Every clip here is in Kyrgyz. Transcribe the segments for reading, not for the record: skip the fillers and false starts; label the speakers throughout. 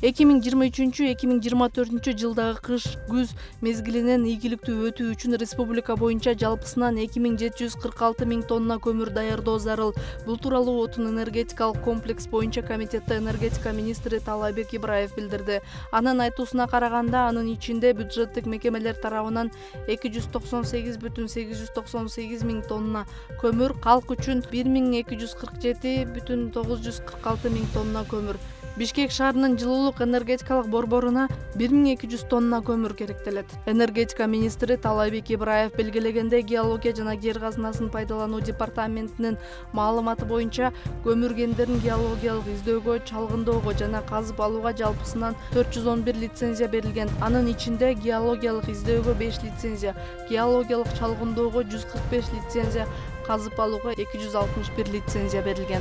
Speaker 1: 2023-2024 жылдагы кыш-күз мезгилинен ийгиликтүү өтүү үчүн республика боюнча жалпысынан 2746 миң тонна көмүр даярдоо зарыл. Бул тууралуу отун энергетикалык комплекс боюнча комитетте энергетика министри Таалайбек Ибраев билдирди. Анын айтуусуна караганда, анын ичинде бюджеттик мекемелер тарабынан 298,898 миң тонна көмүр, калк үчүн 1247,946 миң тонна көмүр. Бишкек шаарынын жылуулук энергетикалык борборуна 1200 тонна көмүр керектелет. Энергетика министри Таалайбек Ибраев белгилегенде, геология жана жер казынасын пайдалануу департаментинин маалыматы боюнча көмүр кендерин геологиялык издөөгө, чалгындоого жана казып алууга жалпысынан 411 лицензия берилген. Анын ичинде геологиялык издөөгө 5 лицензия, геологиялык чалгындоого 145 лицензия, казып алууга 261 лицензия берилген.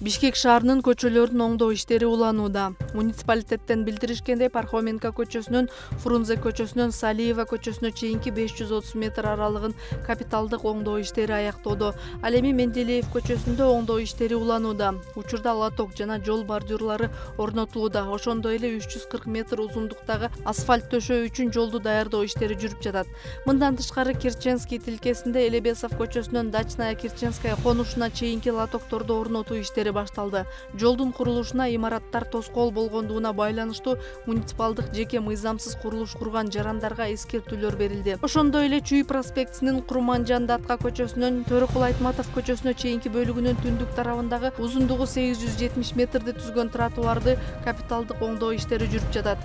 Speaker 1: Бишкек шаарынын көчөлөрүн оңдоо иштери уланууда. Муниципалитеттен билдиришкендей, Пархоменко көчөсүнөн Фрунзе көчөсүнөн Салиева көчөсүнө чейинки 530 метр аралыгын капиталдык оңдоо иштери аяктоодо. Ал эми Менделеев көчөсүндө оңдоо иштери уланууда. Учурда лоток жана жол бордюрлары орнотулууда. Ошондой эле 340 метр узундуктагы асфальт төшөө үчүн жолду даярдоо иштери жүрүп жатат. Мындан тышкары Керченский тилкесинде Элебесов көчөсүнөн Дачная Керченская конушуна чейинки лотокторду орнотуу иштери башталды. Жолдун курулушуна имараттар тоскоол болгондугуна байланыштуу муниципалдык жеке мыйзамсыз курулуш курган жарандарга эскертүүлөр берилди. Ошондой эле Чүй проспектисинин Курманжан Датка көчөсүнөн Төрөкул Айтматов көчөсүнө чейинки бөлүгүнүн түндүк тарабындагы узундугу 870 метрди түзгөн тротуарды капиталдык оңдоо иштери жүрүп жатат.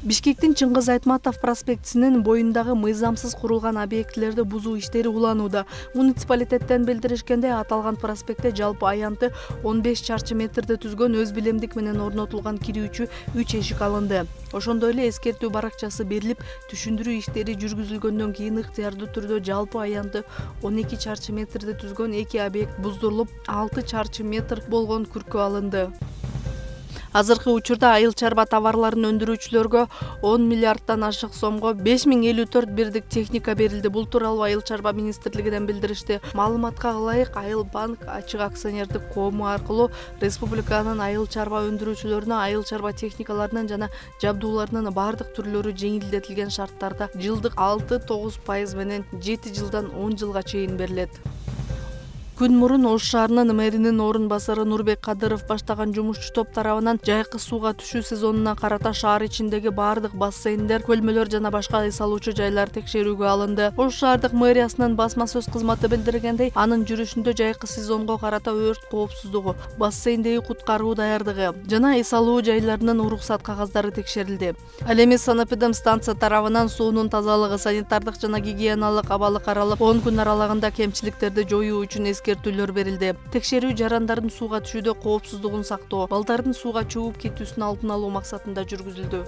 Speaker 1: Бишкектин Чыңгыз Айтматов проспектисинин боюндагы мыйзамсыз курулган объектилерди бузуу иштери уланууда. Муниципалитеттен билдиришкенде, аталган проспектте жалпы аянты 15 чарчы метрди түзгөн өз билемдик менен орнотулган кирүүчү 3 эшик алынды. Ошондой эле эскертүү баракчасы берилип, түшүндүрүү иштери жүргүзүлгөндөн кийин ыктыярдуу түрдө жалпы аянты 12 чарчы метрди түзгөн 2 объект буздурулуп, 6 чарчы метр болгон күркө алынды. Азыркы учурда айыл чарба товарларын өндүрүүчүлөргө 10 миллиарддан ашык сомго 5054 бирдик техника берилди. Бул тууралуу Айыл чарба министрлигинен билдиришти. Маалыматка ылайык, Айыл банк ачык акционердик коому аркылуу республиканын айыл чарба өндүрүүчүлөрүнө айыл чарба техникаларынын жана жабдууларынын бардык түрлөрү жеңилдетилген шарттарда жылдык 6-9% менен 7 жылдан 10 жылга чейин берилет. Күн мурун Ош шаарынын мэринин орун басары Нурбек Кадыров баштаган жумушчу топ тарабынан жайкы сууга түшүү сезонуна карата шаар ичиндеги бардык бассейндер, көлмөлөр жана башка эс алуучу жайлар текшерүүгө алынды. Ош шаардык мэриясынын басма сөз кызматы билдиргендей, анын жүрүшүндө жайкы сезонго карата өрт коопсуздугу, бассейндеги куткаруу даярдыгы жана эс алуу жайларынын уруксат кагаздары текшерилди. Ал эми санэпидемстанция тарабынан суунун тазалыгы, санитардык жана гигиеналык абалы каралып, 10 күн аралыгында кемчиликтерди жоюу үчүн эскертүүлөр берилди. Текшерүү жарандардын сууга түшүүдө коопсуздугун сактоо, балдардын сууга чөгүп кетүүсүн алдын алуу максатында жүргүзүлдү.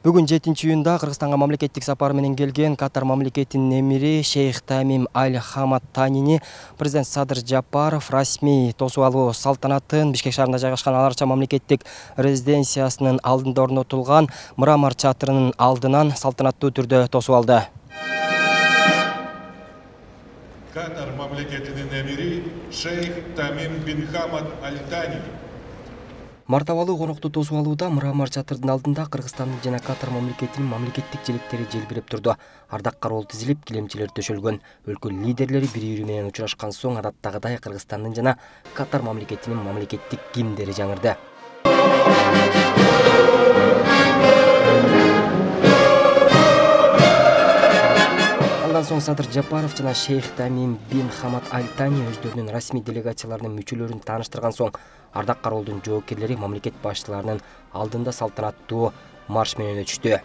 Speaker 2: Бүгүн 7-июнда Кыргызстанга мамлекеттик сапар менен келген Катар мамлекетинин эмири Шейх Тамим Аль Хамад Танини президент Садыр Жапаров расмий тосуп алуу салтанатын Бишкек шаарында жайгашкан Ал Арча мамлекеттик резиденциясынын алдында орнотулган мрамор чатырынын алдынан салтанаттуу түрдө тосуп алды.
Speaker 3: Катар мамлекетинин эмири Шейх Тамим бин Хамад Аль Тани
Speaker 2: Мартабалуу конокту тосуп алууда мрамор чатырдын алдында Кыргызстандын жана Катар мамлекетинин мамлекеттик желектери желбиреп турду. Ардак кароол тизилип, килемчелер төшөлгөн. Өлкө лидерлери бири-бири менен учурашкан соң адаттагыдай Кыргызстандын жана Катар мамлекетинин мамлекеттик гимндери жаңырды. Андан соң Садыр Жапаров жана Шейх Тамим бин Хамад Аль Тани өздөрүнүн расмий делегацияларынын мүчөлөрүн тааныштырган соң ардак кароолдун жоокерлери мамлекет башчыларынын алдында салтанаттуу марш менен өтүштү.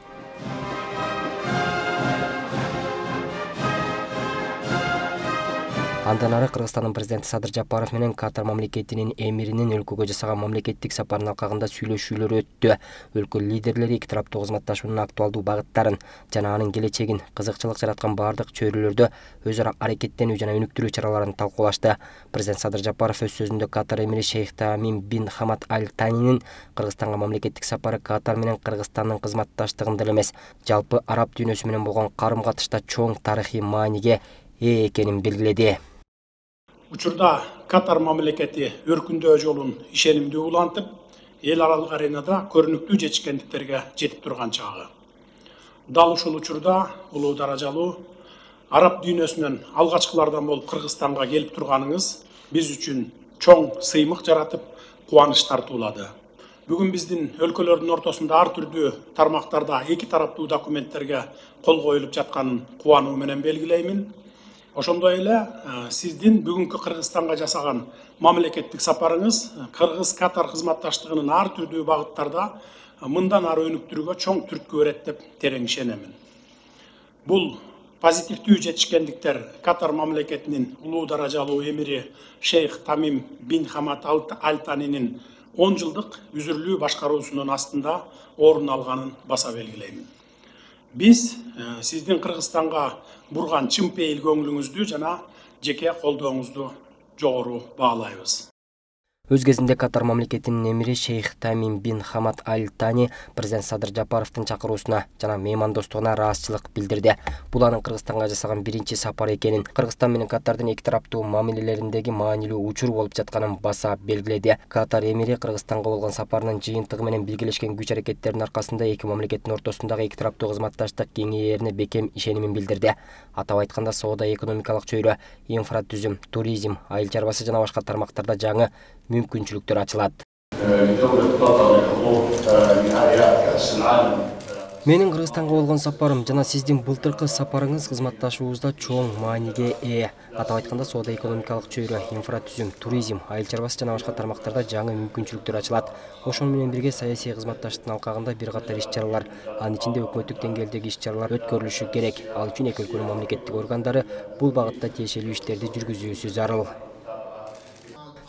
Speaker 2: Андан ары Кыргызстандын президенти Садыр Жапаров менен Катар мамлекетинин эмиринин өлкөгө жасаган мамлекеттик сапарынын алкагында сүйлөшүүлөр өттү. Өлкө лидерлери эки тараптуу кызматташуунун актуалдуу багыттарын жана анын келечегин, кызыкчылык жараткан бардык чөйрөлөрдө өз ара аракеттенүү жана өнүктүрүү чараларын талкуулашты. Президент Садыр Жапаров өз сөзүндө Катар эмири Шейх Тамим бин Хамад Аль Танинин Кыргызстанга мамлекеттик сапары Катар менен Кыргызстандын кызматташтыгында эле эмес, жалпы араб дүйнөсү менен болгон карым-катышта чоң тарыхый мааниге ээ экенин белгиледи.
Speaker 4: Учурда Катар мамлекети өркүндөө жолун ишенимдүү улантып, эл аралык аренада көрүнүктүү жетишкендиктерге жетип турган чагы. Дал ушул учурда улуу даражалуу араб дүйнөсүнөн алгачкылардан болуп Кыргызстанга келип турганыңыз биз үчүн чоң сыймык жаратып, кубаныч тартуулады. Бүгүн биздин өлкөлөрдүн ортосунда ар түрдүү тармактарда эки тараптуу документтерге кол коюлуп жатканын кубануу менен белгилеймин. Ошондой эле сиздин бүгүнкү Кыргызстанга жасаган мамлекеттик сапарыңыз Кыргыз-Катар кызматташтыгынын ар түрдүү багыттарда мындан ары өнүктүрүүгө чоң түрткү берет деп терең ишенемин. Бул позитивдүү жетишкендиктер Катар мамлекетинин улуу даражалуу эмири Шейх Тамим бин Хамад Аль Танинин 10 жылдык үзүрлүү башкаруусунун астында орун алганын баса белгилеймин. Биз сиздин Кыргызстанга бурган чын пейил көңүлүңүздү жана жеке колдооңузду жогору баалайбыз.
Speaker 2: Өз кезинде Катар мамлекетинин эмири Шейх Тамим бин Хамад Аль Тани президент Садыр Жапаровдун чакыруусуна жана меймандостугуна ыраазычылык билдирди. Бул анын Кыргызстанга жасаган биринчи сапары экенин, Кыргызстан менен Катардын эки тараптуу мамилелериндеги маанилүү учур болуп жатканын баса белгиледи. Катар эмири Кыргызстанга болгон сапарынын жыйынтыгы менен биргелешкен күч аракеттеринин аркасында эки мамлекеттин ортосундагы эки тараптуу кызматташтык кеңейерине бекем ишенимин билдирди. Атап айтканда, соода, экономикалык чөйрө, инфратүзүм, туризм, айыл чарбасы жана башка тармактарда жаңы мүмкүнчүлүктөр ачылат. Менин Кыргызстанга болгон сапарым жана сиздин былтыркы сапарыңыз кызматташуубузда чоң мааниге ээ. Атап айтканда, соода, экономикалык чөйрө, инфратүзүм, туризм, айыл чарбасы жана башка тармактарда жаңы мүмкүнчүлүктөр ачылат. Ошону менен бирге саясий кызматташтыктын алкагында бир катар иш-чаралар, анын ичинде өкмөттүк деңгээлдеги иш-чаралар өткөрүлүшү керек. Ал үчүн эки өлкөнүн мамлекеттик органдары бул багытта тиешелүү иштерди жүргүзүүсү зарыл.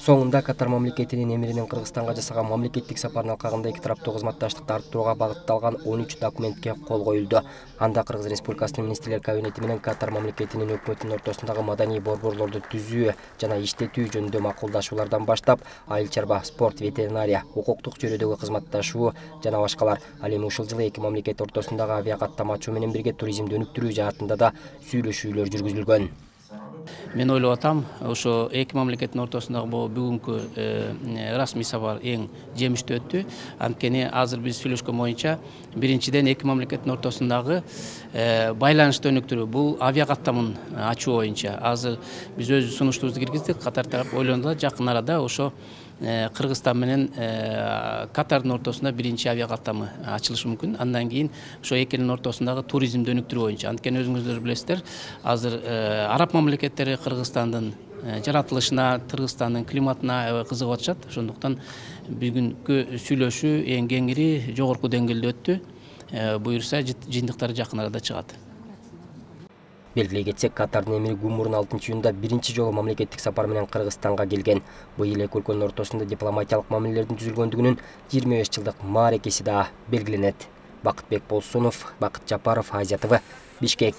Speaker 2: Соңунда Катар мамлекетинин эмиринин Кыргызстанга жасаган мамлекеттик сапарынын алкагында эки тараптуу кызматташтыкты арттырууга багытталган 13 документке кол коюлду. Анда Кыргыз Республикасынын министрлер кабинети менен Катар мамлекетинин өкмөтүнүн ортосундагы маданий борборлорду түзүү жана иштетүү жөнүндө макулдашуулардан баштап, айыл чарба, спорт, ветеринария, укуктук чөйрөдөгү кызматташуу жана башкалар. Ал эми ушул жылы эки мамлекет ортосундагы авиакаттам ачуу менен бирге туризмди өнүктүрүү жаатында да сүйлөшүүлөр жүргүзүлгөн.
Speaker 5: Мен ойлоп атам, ошо эки мамлекеттин ортосундагы бүгүнкү расмий сапар эң жемиштүү өттү. Анткени азыр биз сүйлөшкөн боюнча биринчиден эки мамлекеттин ортосундагы байланышты өнүктүрүү, бул авиакаттамын ачуу боюнча. Азыр биз өз сунуштуубузду киргиздик, Катар тарап ойлонду, жакын арада ошо Кыргызстан менен Катардын ортосунда биринчи авиакаттамы ачылышы мүмкүн. Андан кийин ошо эки элдин ортосундагы туризмди өнүктүрүү боюнча. Анткени өзүңүздөр билесиздер, азыр араб мамлекеттери Кыргызстандын жаратылышына, Кыргызстандын климатына аябай кызыгып атышат. Ошондуктан бүгүнкү сүйлөшүү эң кеңири жогорку деңгээлде өттү. Буюрса жыйынтыктары жакын арада чыгат.
Speaker 2: Белгилей кетсек, Катардын эмири Гумурдун 6-июнда биринчи жолу мамлекеттик сапар менен Кыргызстанга келген. Быйыл эки өлкөнүн ортосунда дипломатиялык мамилелердин түзүлгөндүгүнүн 25 жылдык мааракеси да белгиленет. Бакытбек Болсунов, Бакыт Жапаров, Азия ТВ, Бишкек.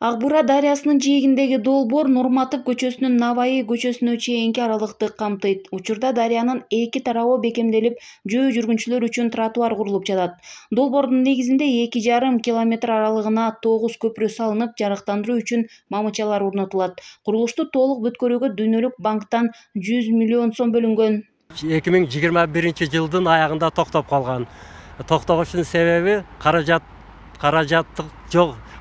Speaker 6: Ак Бура дарыясынын жээгиндеги долбоор Нурматов көчөсүнөн Наваи көчөсүнө чейинки аралыкты камтыйт. Учурда дарыянын эки тарабы бекемделип, жөө жүргүнчүлөр үчүн тротуар курулуп жатат. Долбоордун негизинде 2,5 километр аралыгына 9 көпүрө салынып, жарыктандыруу үчүн мамычалар орнотулат. Курулушту толук бүткөрүүгө Дүйнөлүк банктан 100 миллион сом бөлүнгөн.
Speaker 7: 2021 жылдын аягында токтоп калган. Токтогучунун себеби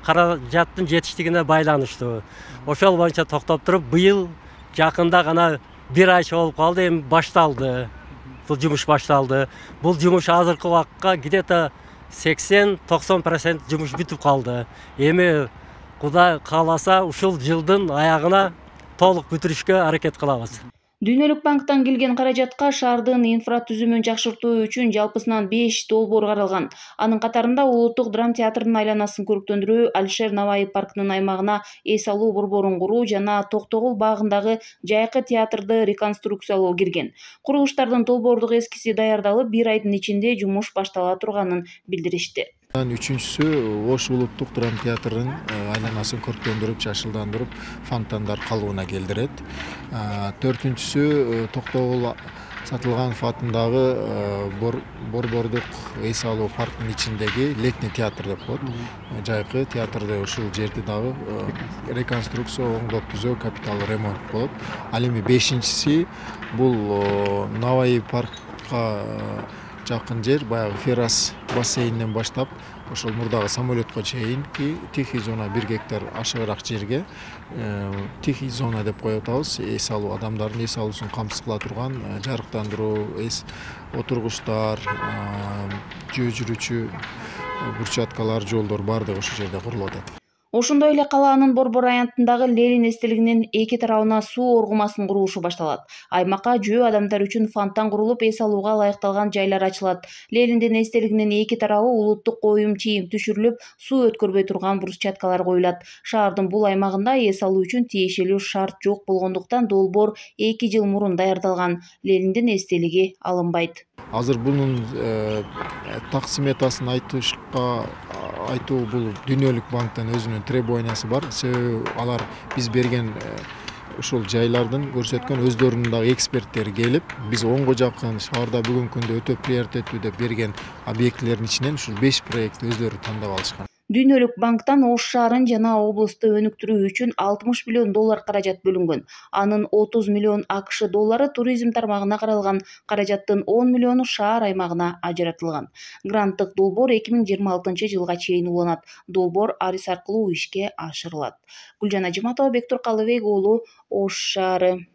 Speaker 7: каражаттын жетиштигине байланыштуу. Ошол боюнча токтоп туруп, быйыл жакында гана бир айча болуп калды, эми башталды. Бул жумуш башталды. Бул жумуш азыркы убакытка где-то 80-90% жумуш бүтүп калды. Эми Кудай кааласа ушул жылдын аягына толук бүтүрүшкө аракет кылабыз.
Speaker 6: Дүйнөлүк банктан келген каражатка шаардын инфратүзүмүн жакшыртуу үчүн жалпысынан 5 долбоор каралган. Анын катарында Улуттук драм театрдын айланасын көрүктөндүрүү, Алишер Наваи паркынын аймагына эс алуу борборун куруу жана Токтогул багындагы жайкы театрды реконструкциялоо кирген. Курулуштардын долбоордук эскизи даярдалып, бир айдын ичинде жумуш баштала турганын билдиришти.
Speaker 8: Үчүнчүсү Ош улуттук драм театрынын айланасын көркөндүрүп, жашылдандырып, фонтандар калыбына келтирет. Төртүнчүсү Токтогул Сатылганов атындагы Борбордук эс алуу паркынын ичиндеги летний театр деп коет. Жайкы театрды ушул жерди дагы реконструкция, оңдоп түзөө, капиталдуу ремонт болот. Ал эми 5-си бул Наваи паркка жакын жер, баягы Ферас бассейнинен баштап ошол мурдагы самолетко чейинки тихий зона 1 гектар ашыгыраак жерге тихий зона деп коюп атабыз. Эс алуу, адамдардын эс алуусун камсыз кыла турган жарыктандыруу, отургучтар, жөө жүрүүчү брусчаткалар, жолдор баардыгы ошол жерде курулуп атат.
Speaker 6: Ошондой эле калаанын Борбор аянтындагы Ленин эстелигинин эки тарабына суу оргумасынын курулушу башталат. Аймакка жөө адамдар үчүн фонтан курулуп, эс алууга ылайыкталган жайлар ачылат. Лениндин эстелигинин эки тарабы улуттук коюм чийим түшүрүлүп, суу өткөрбөй турган брусчаткалар коюлат. Шаардын бул аймагында эс алуу үчүн тиешелүү шарт жок болгондуктан долбоор 2 жыл мурун даярдалган. Лениндин эстелиги алынбайт.
Speaker 8: Азыр бунун так сметасын айтуу бул Дүйнөлүк банктан өзүнүн требованиясы бар. Себеби алар биз берген ушул жайлардын көрсөткөн өздөрүнүн дагы эксперттери келип, биз онго жакын шаарда бүгүнкү күндө өтө приоритеттүү деп берген объектилердин ичинен ушул 5 проектти өздөрү тандап алышкан.
Speaker 6: Дүйнөлүк банктан Ош шаарын жана облусту өнүктүрүү үчүн 60 миллион доллар каражат бөлүнгөн. Анын 30 миллион АКШ доллары туризм тармагына каралган, каражаттын 10 миллиону шаар аймагына ажыратылган. Гранттык долбоор 2026 жылга чейин уланат. Долбоор арыз аркылуу ишке ашырылат. Гүлжан Ажыматова, Бектур Калыбек уулу, Ош шаары.